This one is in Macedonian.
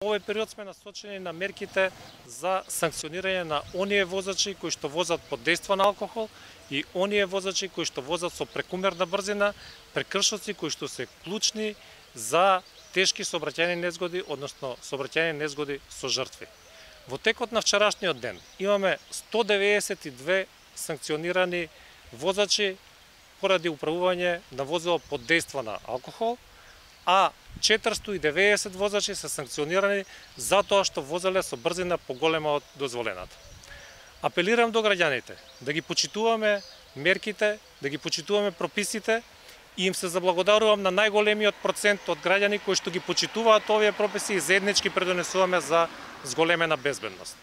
Овој период сме насочени на мерките за санкционирање на оние возачи кои што возат под дејство на алкохол и оние возачи кои што возат со прекумерна брзина, прекршоци кои што се клучни за тешки сообраќајни незгоди, односно сообраќајни незгоди со жртви. Во текот на вчерашниот ден имаме 192 санкционирани возачи поради управување на возило под дејство на алкохол, а 490 возачи се санкционирани за тоа што возеле со брзина поголема од дозволената. Апелирам до граѓаните да ги почитуваме мерките, да ги почитуваме прописите и им се заблагодарувам на најголемиот процент од граѓани кои што ги почитуваат овие прописи и заеднички предонесуваме за зголемена безбедност.